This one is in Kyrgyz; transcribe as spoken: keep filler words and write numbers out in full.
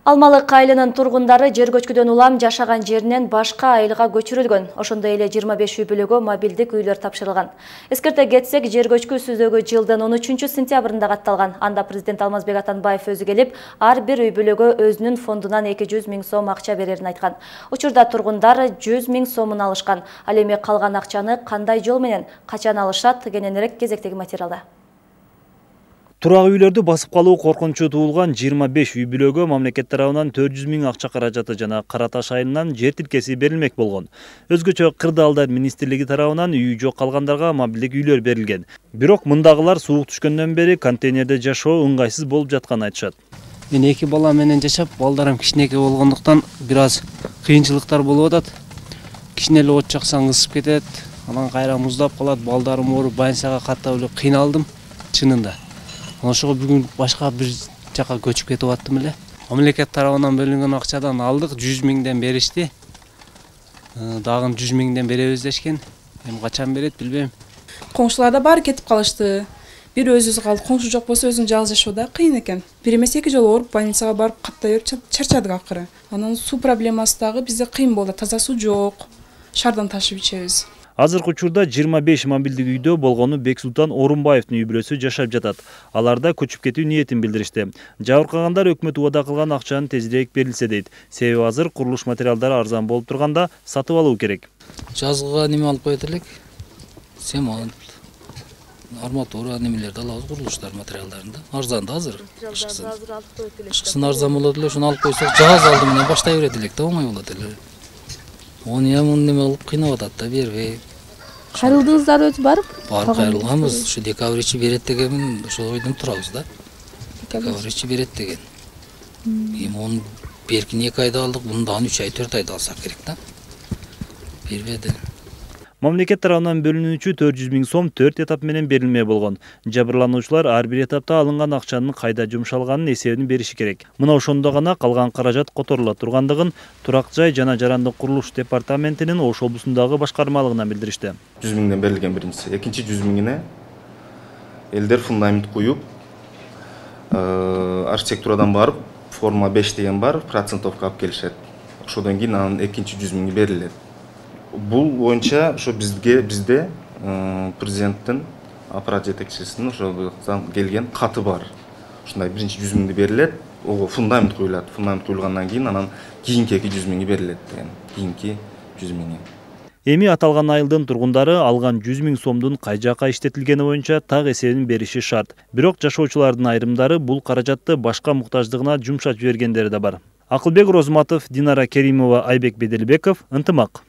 Алмалык айылынын тургундары жер көчкүдөн улам жашаган жеринен башка айылга көчүрүлгөн. Ошондой эле жыйырма беш үй бүлөгө мобилдик үйлөр тапшырылган. Эскерте кетсек, жер көчкү сөзөгү жылдын он үчүнчү сентябрында катталган. Анда президент Алмазбек Атамбаев өзү келип, ар бир үй бүлөгө өзүнүн фондунан эки жүз миң сом акча берерин айткан. Учурда тургундар жүз миң сомун алышкан. Ал эми калган акчаны кандай жол менен качан алышат, кененирээк кезектеги материалда. Турак үйлөрдү басып калуу коркунучу туулган жыйырма беш үй бүлөгө мамлекет тарабынан төрт жүз миң акча каражаты жана Кара Таш айылынан жер тилкеси берилмек болгон. Өзгөчө Кырды Алдар министрлиги тарабынан үйү жок калгандарга мобилдик үйлөр берилген. Бирок мындагылар суук түшкөндөн бери контейнерде жашоо ыңгайсыз болуп жатканын айтышат. Мен эки бала менен жашап, балдарым кичинекей болгондуктан бир аз кыйынчылыктар болуп атат. Кичине эле от жаксаң ысып кетет, анан кайра муздап калат, балдарым ооруп, больницага каттап эле кыйналдым чынында. Ошого бүгүн башка бир жака көчүп кетип аттым эле. Мамлекет тарабынан бөлүнгөн акчадан алдык, жүз миңден беришти. Дагы жүз миңден беребиз дешкен. Эми качан берет билбейм. Коңшуларда баары кетип калышты. Бир өзүбүз калдык, коңшу жок болсо өзүң жалгыз жашоо да кыйын экен. Бир эмес эки жолу ооруп больницага барып каттай берип чарчадык акыры. Анан суу проблемасы дагы бизде кыйын болду. Таза суу жок. Шаардан ташып ичебиз. Азыркы учурда жыйырма беш мобилдик үйдө болгону Бексултан Орунбаевдин үй бүлөсү жашап жатат. Аларда көчүп кетүү ниетин билдиришти. Жабыркагандар өкмөт убада кылган акчанын тезирээк берилсе дейт. Себеби азыр курулуш материалдары арзан болуп турганда сатып алуу керек. Жазгыга неме алып коет элек. Цемент, арматура немелерди алабыз, курулуштар материалдарын да. Арзан да азыр. Кышкысын арзан болот эле, ошону алып койсок, жаз алды менен баштай берет элек да, оңой болот эле. Оны эми неме кылып кыйнап атат да, бербей. Кайрылдыңыздар өзү барып? Барып кайрылганбыз. Ушу декабрь ичи берет дегенмин, ошол ойдон турабыз да. Декабрь ичи берет деген. Эми оны беркин эки айда алдык, муну дагы үч ай, төрт айда алсак керек да. Бербеди. Мамлекет тарабынан бөлүнүүчү төрт жүз миң сом төрт этап менен берилме болгон. Жабырлануучулар ар бир этапта алынган акчанын кайда жумшалганын эсебин бериши керек. Мына ошондо гана калган каражат которула тургандыгын Турак жай жана жарандык курулуш департаментинин Ош облусундагы башкармалыгынан билдиришти. жүз миңден берилген биринчиси. Экинчи жүз миңине элдер фундамент куюп, архитектурадан барып, форма беш деген бар, процентовка алып келишет. Ошодон кийин анын экинчи жүз миңи берилет. Бул боюнча ошо бизге бизде президенттин аппарат жетекчисинин ошо келген каты бар. Ушундай биринчи жүз миңди берилет, ого фундамент куюлат. Фундамент куюлгандан кийин анан кийинки эки жүз миңи берилет деген. Кийинки жүз миңи. Эми аталган айылдын тургундары алган жүз миң сомдун кай жака иштетилгени боюнча так эсебин бериши шарт. Бирок жашоочулардын айрымдары бул каражатты башка муктаждыгына жумшатып жибергендери да бар. Акылбек Розматов, Динара Керимова, Айбек Беделбеков, Ынтымак.